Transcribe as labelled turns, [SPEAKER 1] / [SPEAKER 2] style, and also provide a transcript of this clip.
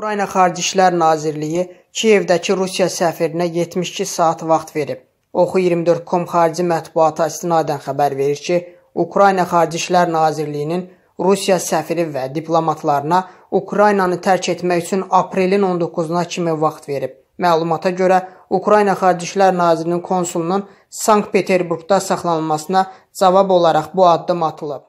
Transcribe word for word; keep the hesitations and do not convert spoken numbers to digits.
[SPEAKER 1] Ukrayna Xarici İşlər Nazirliyi Kiyevdəki Rusiya səfirinə yetmiş iki saat vaxt verib. Oxu iyirmi dörd nöqtə com xarici mətbuata istinadən xəbər verir ki, Ukrayna Xarici İşlər Nazirliyinin Rusiya səfiri və diplomatlarına Ukraynanı tərk etmək üçün aprelin on doqquzuna kimi vaxt verib. Məlumata görə, Ukrayna Xarici İşlər Nazirinin konsulunun Sankt-Peterburqda saxlanılmasına cavab olaraq bu addım atılıb.